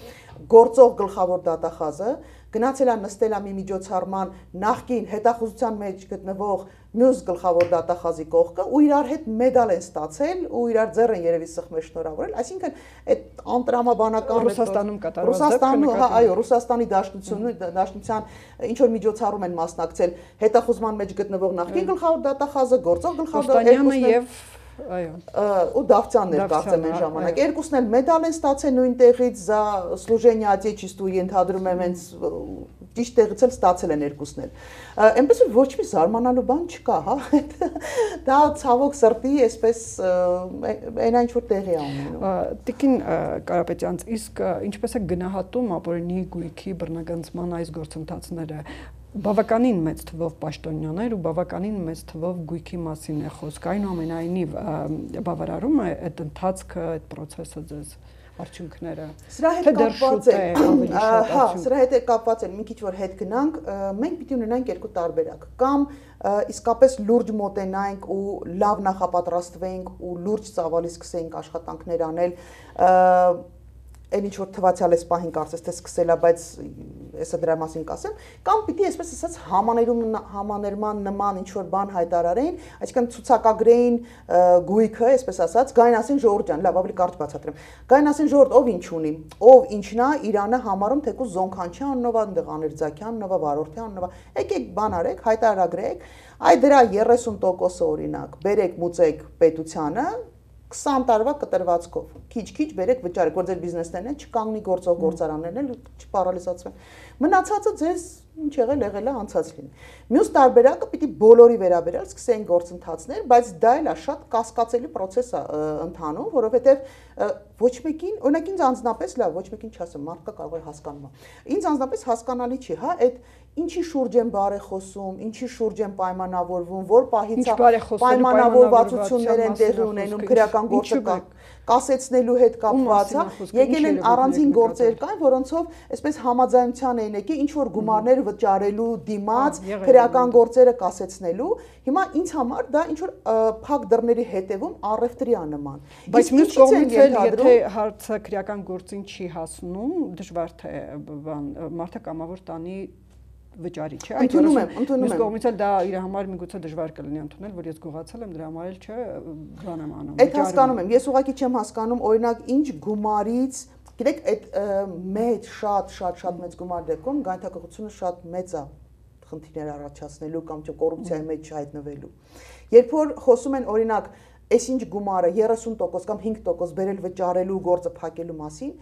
գործող գլխավոր դատախազը գնացել է նստել է մի միջոցառման նախկին հետախուզության մեջ գտնվող մյուս գլխավոր դատախազի կողքը ու իրար հետ մեդալ են ստացել ու իրար ձեռ են երևի սխմել շնորհավորել, այսինքն այդ անտրամաբանական Ռուսաստանում կատարված Ռուսաստանում, հա, այո, Ռուսաստանի դաշնությունը, դաշնության ինչ որ միջոցառում են մասնակցել հետախուզման մեջ գտնվող նախկին գլխավոր դատախազը, գործող գլխավոր դատախազը եւ այո ու Դավթյանն էր կարծեմ այն ժամանակ երկուսն էլ մեդալ են ստացել նույն տեղից за служение отечеству ենթադրում եմ հենց ճիշտ տեղից էլ ստացել են երկուսն էլ այնպես որ ոչ մի զարմանալու բան չկա հա դա ցավոք սրտի այսպես այն ինչ որ տեղի է ունենում Տիկին Կարապետյանց իսկ ինչպես է գնահատում ապօրինի գույքի բռնագանձման այս գործընթացները բավականին մեծ թվով պաշտոնյաներ ու բավականին մեծ թվով գույքի մասին է խոսք այնուամենայնիվ բավարարում է այդ ընթացքը այդ process-ը ձեզ արդյունքները սրա հետ կապված է հա սրա հետ է կապված է մի քիչ որ հետ գնանք մենք պիտի ունենանք երկու տարբերակ կամ իսկապես լուրջ մոտենանք ու լավ նախապատրաստվենք ու լուրջ ծավալի սկսենք աշխատանքներ անել այն ինչ որ թվացial էս պահին կարծես թե սկսել է, բայց հեսա դրա մասին կասեմ, կամ պիտի այսպես ասած համաներում համաներման նման ինչ որ բան հայտարարեն, այսինքն ցուցակագրեին գույքը, այսպես ասած, գային ասին ժողովուրդ ջան, լավ, ավելի կարճ բացատրեմ։ Գային ասին ժողովուրդ ով ինչ ունի, ով ինչն է, Իրանը համարում թեկուզ Զոնքանչյան աննովա, Դղաներձակյան աննովա, Վարորդյան աննովա։ Եկեք բան արեք, հայտարարագրեք, այ դրա երեսուն տոկոսը օրինակ, բերեք մուծեք պետությանը քսան տարվա կտրվածքով քիչ-քիչ բերեք վճարեք որ ձեր բիզնեսներն են չկանգնի գործող գործարաններն են չպարալիզացվեն մնացածը ձեզ ինչ եղել եղել է անցած լինի մյուս տարբերակը պիտի բոլորի վերաբերյալ սկսեն գործընթացներ բայց դա էլ է շատ կասկածելի process է ընթանում որովհետև ոչ մեկին օրինակ ինձ անձնապես լավ ոչ մեկին չասեմ մարդկա կարող է հասկանում ինձ անձնապես հասկանալի չի հա այդ ինչի շուրջ են բարեխոսում, ինչի շուրջ են պայմանավորվում, որ պահից պայմանավորվածություններ են տեղի ունենում քրեական գործը կասեցնելու հետ կապված, եկել են առանձին գործեր կային, որոնցով այսպես համաձայնության էին եկել ինչ որ գումարներ վճարելու դիմաց քրեական գործերը կասեցնելու։ Հիմա ինձ համար դա ինչ որ փակ դռների հետևում առևտրի է նման։ Բայց մյուս կողմից էլ եթե հարցը քրեական գործին չի հասնում, դժվար թե մարդը կամավոր տանի վճարի, չէ՞։ Ընդունում եմ, ընդունում եմ։ Մյուս կողմից էլ դա իր համար միգուցե դժվար կլինի ընդունել, որ ես գողացել եմ, դրա համար էլ չէ, բան եմ անում։ Այդ հասկանում եմ, ես ուղղակի չեմ հասկանում, օրինակ ինչ գումարից, գիտեք, այդ մեծ, շատ, շատ, շատ մեծ գումար դեպքում գայթակղությունը շատ մեծ է խնդիրներ առաջացնելու կամ չէ կոռուպցիայի մեջ չհայտնվելու։ Երբ որ խոսում են օրինակ, այսինչ գումարը երեսուն տոկոս կամ հինգ տոկոս բերել վճարելու գործը փակելու մասին,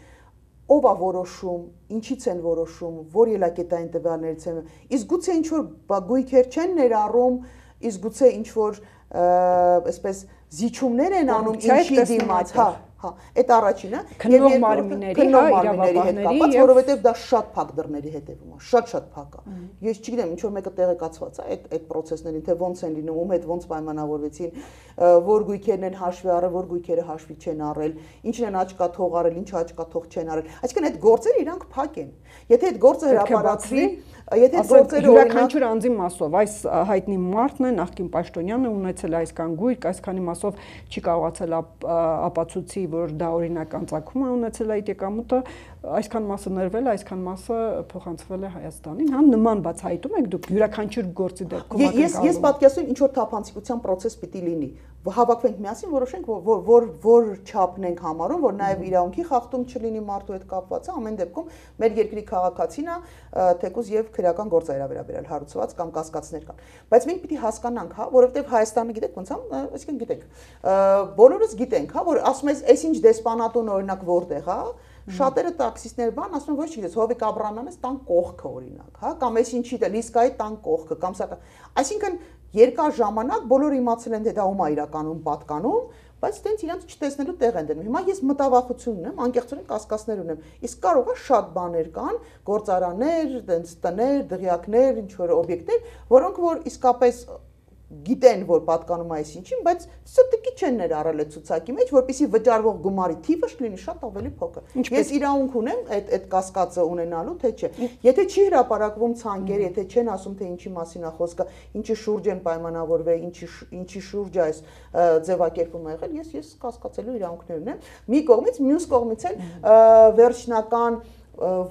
ով է որոշում, ինչից են որոշում, որ ելակետային տվյալներից են, իսկ գուցե ինչ որ գույքեր չեն ներառում, իսկ գուցե ինչ որ այսպես զիջումներ են անում ինչի դիմաց, հա, հա, այդ առաջինը, քննող մարմինների, հա, իրավաբանների, որովհետև դա շատ փակ դռների հետևում է, շատ-շատ փակ է։ Ես չգիտեմ, ինչ որ մեկը տեղեկացված է այդ այդ process-ներին, թե ոնց են լինում, ում հետ ոնց պայմանավորվեցին, որ գույքերն են հաշվի առել, որ գույքերը հաշվի չեն առել, ինչն են աչքա թող առել, ինչը աչքա թող չեն առել։ Այսինքն այդ գործերը իրանք փակ են։ Եթե այդ գործը հրապարակվի, եթե այդ գործերը յուրաքանչյուր անձի մասով, այս հայտնի մարդն է, նախկին պաշտոնյանը ունեցել այսքան գույք, այսքանի մասով չի կարողացել ապացուցի, որ դա օրինական ծագում է ունեցել այդ եկամուտը, այսքան մասը ներվել, այսքան մասը փոխանցվել է Հայաստանին, հա նման բացահայտում եք դուք յուրաքանչյուր գործի դեպքում։ Ես ես պատկերացնում ինչ որ թափանցիկության process պիտի լինի։ Հավաքվենք միասին, որոշենք, որ որ որ չափն ենք համարում, որ նաև իրավունքի խախտում չլինի մարդու հետ կապված, ամեն դեպքում մեր երկրի քաղաքացին է, թեկուզ եւ քրեական գործեր վերաբերել հարուցված կամ կասկածներ կան։ Բայց մենք պիտի հասկանանք, հա, որովհետեւ Հայաստանը գիտեք ոնց է, այսինքն գիտեք, բոլորս գիտենք, հա, որ ասում ես, այսինչ դեսպանատուն օրինակ որտեղ է, շատերը տաքսիստներ բան ասում ոչ չգիտես Հովիկ Աբրահամյանից տան կողքը օրինակ, հա, կամ այսինչի դա Լիսկայի տան կողքը, կամ սա, այսինքն երկար ժամանակ բոլորը իմացել են թե դա ում է իրականում պատկանում, բայց տենց իրանց չտեսնելու տեղ են դնում։ Հիմա ես մտավախություն ունեմ, անկեղծորեն կասկածներ ունեմ։ Իսկ կարող է շատ բաներ կան, գործարաններ, տենց տներ, դղյակներ, ինչ որ օբյեկտներ, որոնք որ իսկապես գիտեն, որ պատկանում է այսինչին, բայց ստիկի չեն ներառել այդ ցուցակի մեջ, որպեսզի վճարվող գումարի թիվը լինի շատ ավելի փոքր։ Ես իրավունք ունեմ այդ այդ կասկածը ունենալու, թե չէ։ Եթե չի հրապարակվում ցանկեր, եթե չեն ասում թե ինչի մասին է խոսքը, ինչի շուրջ են պայմանավորվել, ինչի ինչի շուրջ է այս ձևակերպումը եղել, ես ես կասկածելու իրավունքներ ունեմ։ Մի կողմից, մյուս կողմից էլ վերջնական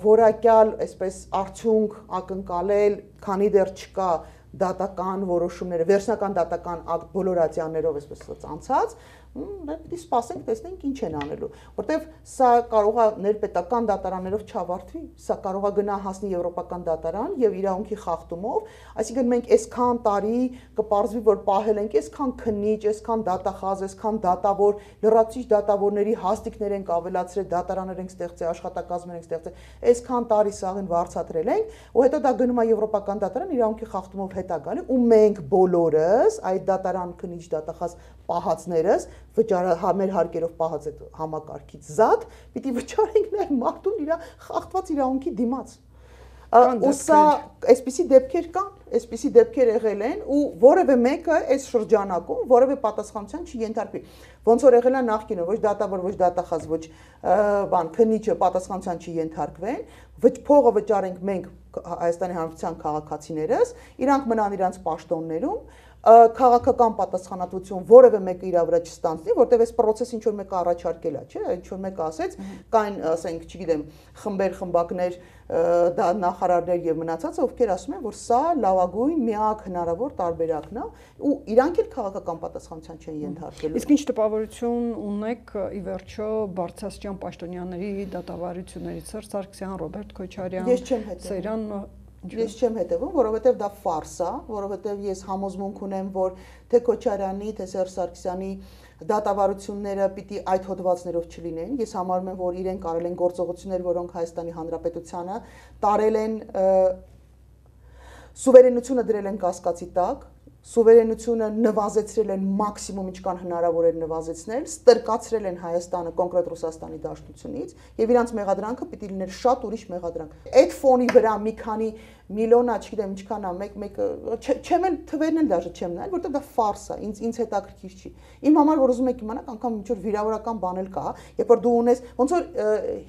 որակյալ, այսպես արդյունք ակնկալել, քանի դեռ չկա դատական որոշումները, վերջնական դատական ակտ բոլոր ատյաններով այսպես անցած, պիտի սպասենք, տեսնենք ինչ են անելու, որտեվ սա կարող է ներպետական դատարաններով չավարտվի, սա կարող է գնա հասնի եվրոպական դատարան եւ իրավունքի խախտումով, այսինքն մենք այսքան տարի կպարզվի, որ պահել ենք այսքան քննիչ, այսքան դատախազ, այսքան դատավոր, լրացուցիչ դատավորների հաստիկներ ենք ավելացրել, դատարաններ ենք ստեղծել, աշխատակազմեր ենք ստեղծել, այսքան տարի սաղին վարձատրել ենք, ու հետո դա գնում է եվրոպական դատարան իրավունքի խախտումով հետ է գալի, ու մենք բոլորս այդ դատարան քննիչ դատախազ պահածներս վճարը մեր հարկերով պահած այդ համակարգից զատ, պիտի վճարենք նաև մարդուն իր խախտված իրավունքի դիմաց։ Ու սա այսպիսի դեպքեր կան, այսպիսի դեպքեր եղել են ու որևէ մեկը այս շրջանակում որևէ պատասխանատվության չի ենթարկվի։ Ոնց որ եղել է նախկինում, ոչ դատավոր, ոչ դատախազ, ոչ բան, քննիչը պատասխանատվության չի ենթարկվեն, փողը վճարենք մենք Հայաստանի Հանրապետության քաղաքացիներս, իրանք մնան իրանց պաշտոններում, քաղաքական պատասխանատվություն որևէ մեկը իր վրա չստանձնի, որտեղ այս process ինչ որ մեկը առաջարկել է, չէ, ինչ որ մեկը ասեց, կային, ասենք, չգիտեմ, խմբեր, խմբակներ, դա նախարարներ եւ մնացածը, ովքեր ասում են, որ սա լավագույն միակ հնարավոր տարբերակն է, ու իրանք էլ քաղաքական պատասխանատվության չեն ենթարկելու։ Իսկ ինչ տպավորություն ունեք ի վերջո բարձրաստիճան պաշտոնյաների դատավարություններից, Սերժ Սարգսյան, Ռոբերտ Քոչարյան, Ես չեմ հետևում։ Ես չեմ հետևում, որովհետև դա ֆարս է, որովհետև ես համոզմունք ունեմ, որ թե Քոչարյանի, թե Սերժ Սարգսյանի դատավարությունները պիտի այդ հոդվածներով չլինեն։ Ես համարում եմ, որ իրենք արել են գործողություններ, որոնք Հայաստանի Հանրապետությանը տարել են սուվերենությունը դրել են կասկածի տակ, սուվերենությունը նվազեցրել են մաքսիմում ինչքան հնարավոր էր նվազեցնել, ստրկացրել են Հայաստանը կոնկրետ Ռուսաստանի Դաշնությունից եւ իրանց մեղադրանքը պիտի լիներ շատ ուրիշ մեղադրանք։ Այդ ֆոնի վրա մի քանի միլիոնա, չգիտեմ ինչքան է, մեկ մեկ չեմ էլ թվերն էլ դաժե չեմ նայել, որտեղ դա ֆարս է, ինձ ինձ հետաքրքիր չի։ Իմ համար որ ուզում եք իմանալ, անգամ ինչ որ վիրավորական բան էլ կա, երբ որ դու ունես ոնց որ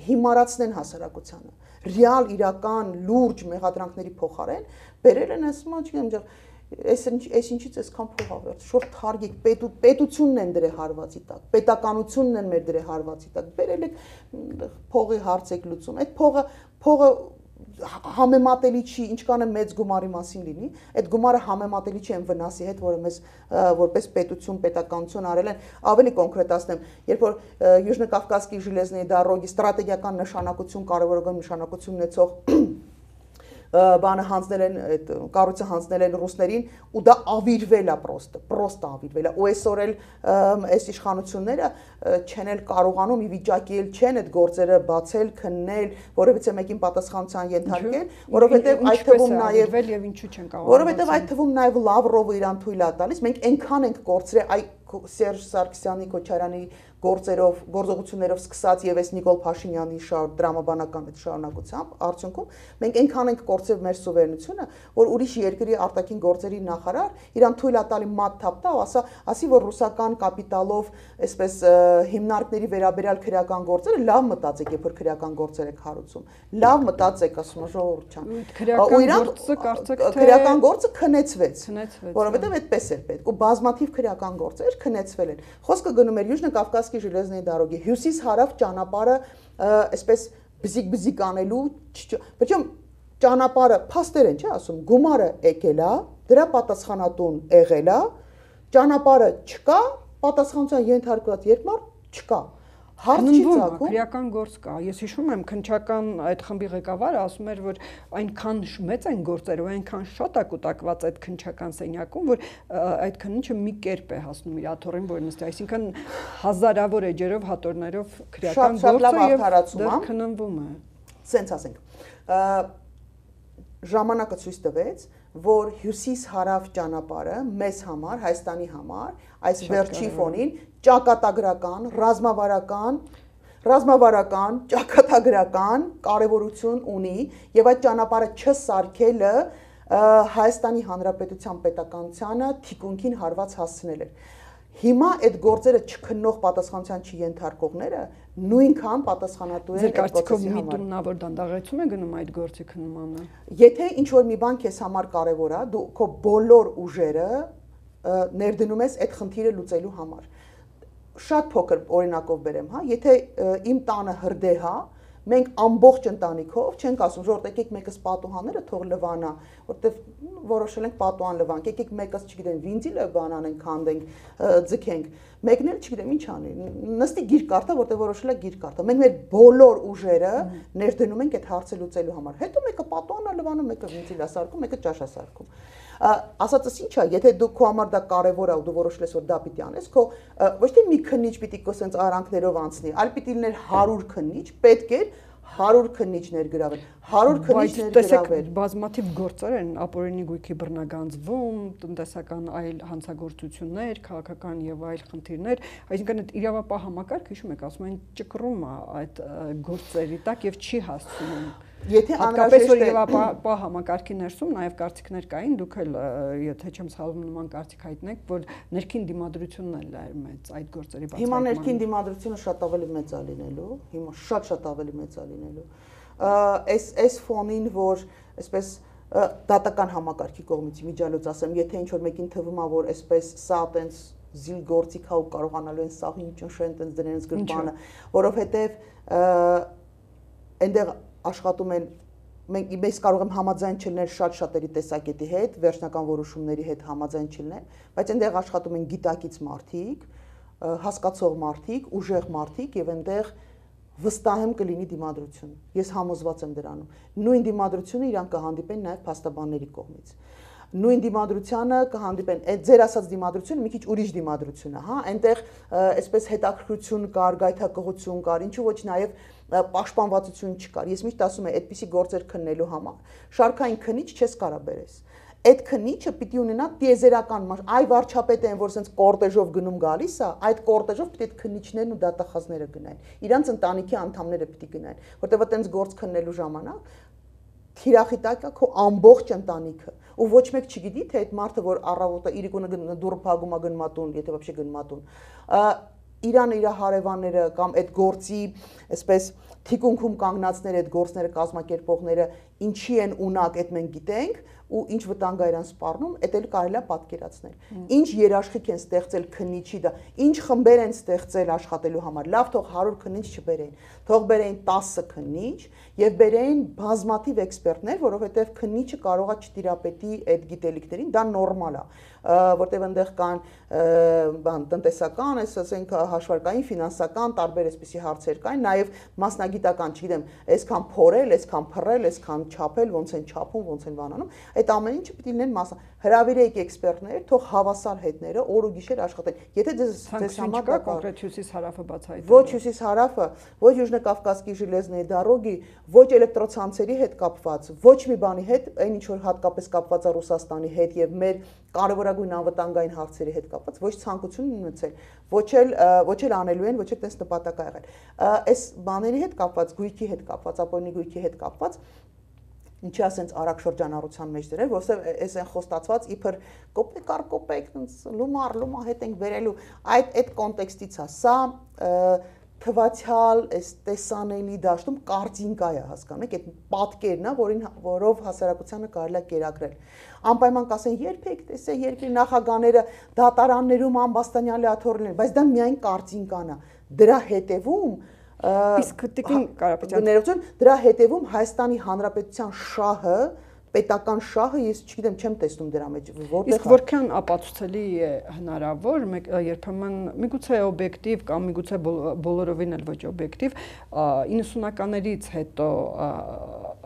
հիմարացնեն հասարակությանը, ռեալ իրական լուրջ մեղադրանքների փոխարեն բերել են ասում, չգիտեմ, Այս այս ինչից այսքան փող ավերտ, շուտ թարգիկ պետու պետությունն են դրե հարվածի տակ, պետականությունն են մեր դրե հարվածի տակ, բերել եք փողի հարց եք լուծում, այդ փողը փողը համեմատելի չի, ինչքան է մեծ գումարի մասին լինի, այդ գումարը համեմատելի չի այն վնասի հետ, որը մեզ որպես պետություն, պետականություն արել են, ավելի կոնկրետացնեմ, երբ որ Южно-Կавказский железные дороги ստրատեգիական նշանակություն, կարևորագույն նշանակություն ունեցող բանը հանձնել են այդ կառույցը հանձնել են ռուսներին ու դա ավիրվել է պրոստը պրոստը ավիրվել է ու այսօր էլ այս իշխանությունները չեն էլ կարողանում ի վիճակի էլ չեն այդ գործերը բացել քննել որովհետեւ մեկին պատասխանության ենթարկել որովհետեւ այդ թվում նաեւ եւ ինչու չեն կարողանում որովհետեւ այդ թվում նաեւ Լավրովը իրան թույլ է տալիս մենք այնքան ենք կորցրել այ Սերժ Սարգսյանի Քոչարյանի գործերով գործողություններով սկսած եւ այս Նիկոլ Փաշինյանի շարք դրամաբանական այդ շարունակությամբ արդյունքում մենք այնքան ենք կորցրել մեր սուվերենությունը որ ուրիշ երկրի արտաքին գործերի նախարար իրան թույլ է տալի մատ թափտա ու ասա ասի որ ռուսական կապիտալով այսպես հիմնարկների վերաբերյալ քրեական գործերը լավ մտածեք երբ որ քրեական գործեր եք հարուցում լավ մտածեք ասում ժողովուրդ չան ու իրան գործը կարծեք թե քրեական գործը քնեցվեց քնեցվեց որովհետեւ այդպես էր պետք ու բազմաթիվ քրեական գործեր քնեցվել են խոսքը գնում էր Южно-Կавказский железные дороги հյուսիս-հարավ ճանապարհը այսպես բզիկ-բզիկ անելու причем ճանապարհը փաստեր են չէ ասում գումարը եկել է դրա պատասխանատուն եղել է ճանապարհը չկա պատասխանության ենթարկված երկմարդ չկա հարց չի ցակում քրեական գործ կա ես հիշում եմ քնչական այդ խմբի ղեկավարը ասում էր որ այնքան մեծ են գործերը ու այնքան շատ է կուտակված այդ քնչական սենյակում որ այդ քննիչը մի կերպ է հասնում իր աթոռին որ նստի այսինքն հազարավոր էջերով հատորներով քրեական գործը եւ դեռ քննվում է սենց ասենք ժամանակը ցույց տվեց որ հյուսիս-հարավ ճանապարհը մեզ համար Հայաստանի համար այս վերջի ֆոնին ճակատագրական, ռազմավարական, ռազմավարական, ճակատագրական կարևորություն ունի եւ այդ ճանապարհը չսարքելը Հայաստանի Հանրապետության պետականությանը թիկունքին հարված հասցնել էր։ Հիմա այդ գործերը չքննող պատասխանության չենթարկողները նույնքան պատասխանատու են այդ գործի համար։ Միտումնավոր դանդաղեցում է գնում այդ գործի քննմանը։ Եթե ինչ որ մի բան քեզ համար կարևոր է, դու քո բոլոր ուժերը ներդնում ես այդ խնդիրը լուծելու համար։ Շատ փոքր օրինակով բերեմ, հա, եթե իմ տանը հրդեհ է, մենք ամբողջ ընտանիքով չենք ասում, ժողովուրդ եկեք մեկս պատուհանները թող լվանա, որտեվ որոշել ենք պատուհան լվանք, եկեք մեկս, չգիտեմ, վինզիլը բան անենք, քանդենք, ձգենք, մեկն էլ չգիտեմ ինչ անի, նստի գիրք կարդա, որտեվ որոշել է գիրք կարդա։ Մենք մեր բոլոր ուժերը ներդնում ենք այդ հարցը լուծելու համար։ Հետո մեկը պատուհան է լվանում, մեկը վինզիլ է սարքում, մեկը ճաշ է սարքում։ Ասածս ինչ է, եթե դու քո համար դա կարևոր է ու դու որոշել ես որ դա պիտի անես, քո ոչ թե մի քննիչ պիտի քո սենց արանքներով անցնի, այլ պիտի լիներ հարյուր քննիչ, պետք է հարյուր քննիչներ գրավել, հարյուր քննիչներ գրավել։ Բազմաթիվ գործեր են ապօրինի գույքի բռնագանձվում, տնտեսական այլ հանցագործություններ, քաղաքական եւ այլ խնդիրներ, այսինքն այդ իրավապահ համակարգը հիշում եք, ասում են ճկռում է այդ գործերի տակ եւ չի հասցնում։ Եթե անհրաժեշտ է իրավապահ համակարգի ներսում նաև կարծիքներ կային, դուք էլ եթե չեմ սխալվում նման կարծիք հայտնեք, որ ներքին դիմադրությունն էլ է մեծ այդ գործերի բացահայտման։ Հիմա ներքին դիմադրությունը շատ ավելի մեծ է լինելու, հիմա շատ-շատ ավելի մեծ է լինելու։ Այս այս ֆոնին, որ այսպես դատական համակարգի կողմից միջալոց ասեմ, եթե ինչ որ մեկին թվում է, որ այսպես սա տենց զիլ գործիք հա ու կարողանալու են սաղ ինչ շեն տենց դրեն ըս գրպանը, որովհետև այնտեղ աշխատում են մենք մեզ կարող եմ համաձայն չլինել շատ շատերի տեսակետի հետ, վերջնական որոշումների հետ համաձայն չլինել, բայց այնտեղ աշխատում են գիտակից մարդիկ, հասկացող մարդիկ, ուժեղ մարդիկ եւ այնտեղ վստահ եմ կլինի դիմադրություն։ Ես համոզված եմ դրանում։ Նույն դիմադրությունը իրան կհանդիպեն նաեւ փաստաբանների կողմից։ Նույն դիմադրությանը կհանդիպեն, այդ ձեր ասած դիմադրությունը մի քիչ ուրիշ դիմադրություն է, հա, այնտեղ այսպես հետաքրքրություն կար, գայթակղություն կար, ինչու ոչ նաեւ պաշտպանվածություն չկար։ Ես միշտ ասում եմ, այդպիսի գործեր քննելու համար շարքային քննիչ չես կարա բերես։ այդ քննիչը պիտի ունենա տիեզերական, այ վարչապետը են, որ ասենց կորտեժով գնում գալիս է, այդ կորտեժով պիտի այդ քննիչներն ու դատախազները գնային։ Իրանց ընտանիքի անդամները պիտի գնային, որտեղ այտենց գործ քննելու ժամանակ թիրախի տակ է քո ամբողջ ընտանիքը, ու ոչ մեկ չգիտի, թե այդ մարդը, որ առավոտը իրիկունը դուռը փակում է գնմատուն, եթե вообще գնմատուն, Իրանը իր հարևանները կամ այդ գործի, այսպես թիկունքում կանգնածները, այդ գործները կազմակերպողները ինչի են ունակ, այդ մենք գիտենք, ու ինչ վտանգ է իրան սպառնում, այդ էլ կարելի է պատկերացնել։ Ինչ երաշխիք են ստեղծել քննիչի դա, ինչ խմբեր են ստեղծել աշխատելու համար։ Լավ, թող հարյուր քննիչ չբերեն, թող բերեն տասը քննիչ եւ բերեն բազմաթիվ էքսպերտներ, որովհետեւ քննիչը կարող է չտիրապետի այդ գիտելիքներին, դա նորմալ է, որտեղ այնտեղ կան բան տնտեսական, այս ասենք հաշվարկային, ֆինանսական տարբեր այսպիսի հարցեր կային, նաեւ մասնագիտական, չգիտեմ, այսքան փորել, այսքան փռել, այսքան չափել, ոնց են չափում, ոնց են բանանում, այդ ամեն ինչը պիտի լինեն մասը։ Հրավիրեք էքսպերտներ, թող հավասար հետները օր ու գիշեր աշխատեն։ Եթե ձեզ ձեզ համար դա կոնկրետ հյուսիս հարավը բացահայտել։ Ոչ հյուսիս հարավը, ոչ Южно-Կավկասկի железные дороги, ոչ էլեկտրոցանցերի հետ կապված, ոչ մի բանի հետ, այն ինչ որ հատկապես կապված է Ռուսաստանի հետ եւ մեր կարևորագույն անվտանգային հարցերի հետ կապված, ոչ ցանկություն ունեցել, ոչ էլ ոչ էլ անելու են, ոչ էլ տես նպատակ ա եղել։ Այս բաների հետ կապված, գույքի հետ կապված, ապօրինի գույքի հետ կապված ինչի ասենց արագ շրջանառության մեջ դրել, որովհետև այս են խոստացված իբր կոպեկ առ կոպեկ, լումար, լումա հետ ենք վերելու, այդ այդ կոնտեքստից է, սա թվացյալ, այս տեսանելի դաշտում կարտինկա է, հասկանեք, այդ պատկերն է, որին որով հասարակությանը կարելի է կերակրել։ Անպայման կասեն, երբեք տեսե երկրի նախագաները դատարաններում ամբաստանյալի աթոռներ, բայց դա միայն կարտինկան է, դրա հետևում Իսկ Տիկին Կարապետյան, ներողություն, դրա հետևում Հայաստանի Հանրապետության շահը, պետական շահը, ես չգիտեմ, չեմ տեսնում դրա մեջ, որտեղ իսկ որքան ապացուցելի է հնարավոր, երբեմն միգուցե օբյեկտիվ կամ միգուցե բոլորովին էլ ոչ օբյեկտիվ, իննսունականներից հետո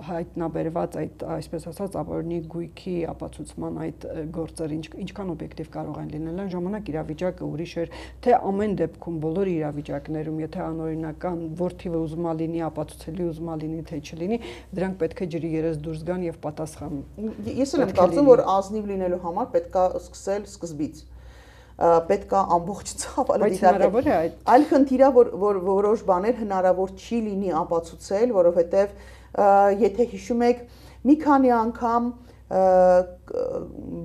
հայտնաբերված այդ, այսպես ասած, ապօրինի գույքի ապացուցման այդ գործերը ինչքան օբյեկտիվ կարող են լինել, այն ժամանակ իրավիճակը ուրիշ էր, թե ամեն դեպքում բոլոր իրավիճակներում, եթե անօրինական որ թիվը ուզում է լինի, ապացուցելի ուզում է լինի, թե չլինի, դրանք պետք է ջրի երես դուրս գան եւ պատասխան։ Ես էլ եմ կարծում, որ ազնիվ լինելու համար պետք է սկսել սկզբից։ Պետք է ամբողջ ցավալը դիտարկել։ Այլ խնդիր է, որ որ որոշ բաներ հնարավոր չի լինի ապացուցել, որովհետեւ եթե հիշում եք, մի քանի անգամ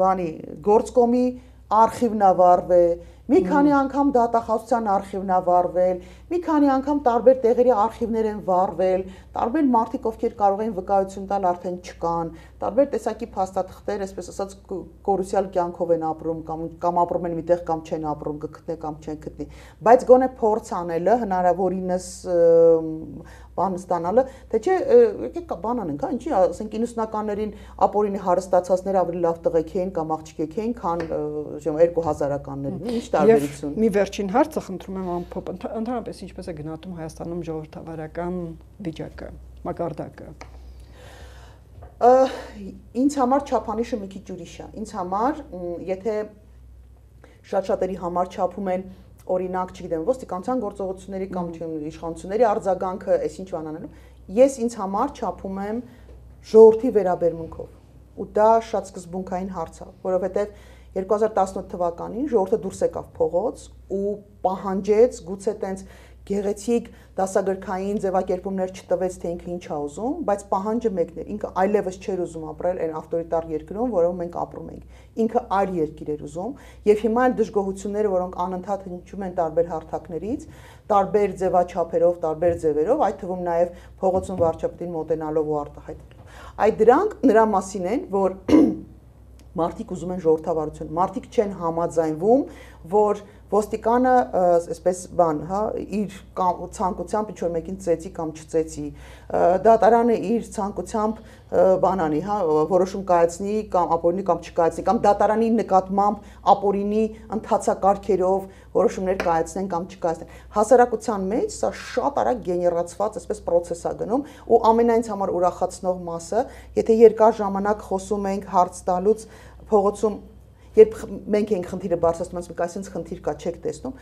բանի գործկոմի արխիվն ա վառվել, մի քանի անգամ դատախազության արխիվն ա վառվել, մի քանի անգամ տարբեր տեղերի արխիվներ են վառվել, տարբեր մարդիկ, ովքեր կարող են վկայություն տալ, արդեն չկան, տարբեր տեսակի փաստաթղթեր, այսպես ասած, կորուսյալ կյանքով են ապրում կամ կամ ապրում են միտեղ կամ չեն ապրում, կգտնե կամ չեն գտնի, բայց գոնե փորձ անելը հնարավորինս բան ստանալը, թե չէ, եկեք բան անենք, հա, ինչի, ասենք իննսունականներին ապօրինի հարստացածները ավելի լավ տղեկ էին կամ աղջիկ էին, քան երկու հազարականներին, ինչ տարբերություն։ Մի վերջին հարցը խնդրում եմ ամփոփ, ընդհանրապես ինչպես է գնահատում Հայաստանում ժողովրդավարական վիճակը, մակարդակը։ Ինձ համար չափանիշը մի քիչ ուրիշ է։ Ինձ համար, եթե շատ-շատերի համար չափում են օրինակ, չգիտեմ, ոստիկանության գործողությունների կամ իշխանությունների արձագանքը, այսինչ բան անելու, ես ինձ համար չափում եմ ժողովրդի վերաբերմունքով։ Ու դա շատ սկզբունքային հարց է, որովհետև երկու հազար տասնութ թվականին ժողովուրդը դուրս եկավ փողոց ու պահանջեց գուցե տենց գեղեցիկ դասագրքային ձևակերպումներ չտվեց, թե ինքը ինչ է ուզում, բայց պահանջը մեկն էր, ինքը այլևս չէր ուզում ապրել այն ավտորիտար երկրում, որում մենք ապրում ենք։ Ինքը այլ երկիր էր ուզում, եւ հիմա այլ դժգոհությունները, որոնք անընդհատ հնչում են տարբեր հարթակներից, տարբեր ձևաչափերով, տարբեր ձևերով, այդ թվում նաեւ փողոցում վարչապետին մոտենալով ու արտահայտելով։ Այդ դրանք նրա մասին են, որ մարդիկ ուզում են ժողովրդավարություն, մարդիկ չեն համաձայնվում, որ ոստիկանը, այսպես բան, հա, իր ցանկությամբ ինչ-որ մեկին ծեծի կամ չծեծի, դատարանը իր ցանկությամբ բանանի, հա, որոշում կայացնի կամ ապօրինի կամ չկայացնի, կամ դատարանի նկատմամբ ապօրինի ընթացակարգերով որոշումներ կայացնեն կամ չկայացնեն։ Հասարակության մեջ սա շատ արագ գեներացված, այսպես process է գնում, ու ամենայնց համար ուրախացնող մասը, եթե երկար ժամանակ խոսում ենք հարց տալուց փողոցում, երբ մենք ենք խնդիրը բարձրացնում, ասում ենք, այսինչ խնդիր կա, չեք տեսնում,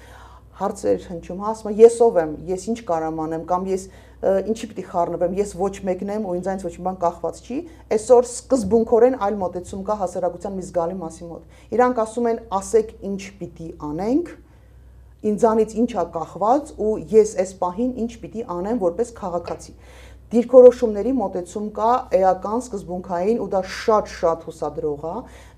հարցեր հնչում, հա, ասում եմ, ես ով եմ, ես ինչ կարամ անեմ, կամ ես ինչի պիտի խառնվեմ, ես ոչ մեկն եմ ու ինձանից ոչ մի բան կախված չի, այսօր սկզբունքորեն այլ մոտեցում կա հասարակության մի զգալի մասի մոտ։ Իրանք ասում են, ասեք ինչ պիտի անենք, ինձանից ինչ է կախված ու ես այս պահին ինչ պիտի անեմ որպես քաղաքացի։ Դիրքորոշումների մոտեցում կա էական սկզբունքային ու դա շատ-շատ հուսադրող է,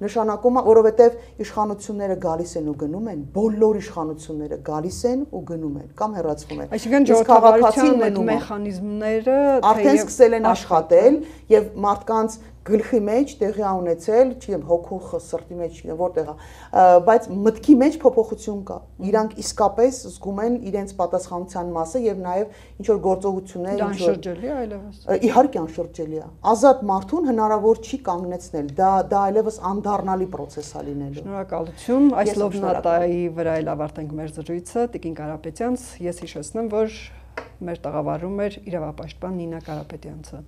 նշանակում է, որովհետև իշխանությունները գալիս են ու գնում են, բոլոր իշխանությունները գալիս են ու գնում են կամ հեռացվում են։ Այսինքն ժողովրդավարության այդ մեխանիզմները արդեն սկսել են աշխատել եւ մարդկանց գլխի մեջ տեղի ունեցել, չգիտեմ, հոգու սրտի մեջ, չգիտեմ, որտեղ է, բայց մտքի մեջ փոփոխություն կա։ Իրանք իսկապես զգում են իրենց պատասխանության մասը եւ նաեւ ինչ որ գործողություններ, ինչ որ անշրջելի է այլևս։ Իհարկե անշրջելի է։ Ազատ մարդուն հնարավոր չի կանգնեցնել։ Դա դա այլևս անդառնալի process է լինելու։ Շնորհակալություն։ Այս լոբնատայի վրա էլ ավարտենք մեր զրույցը Տիկին Կարապետյանց։ Ես հիշեցնեմ, որ մեր տաղավարում էր իրավապաշտպան Նինա Կարապետյանցը։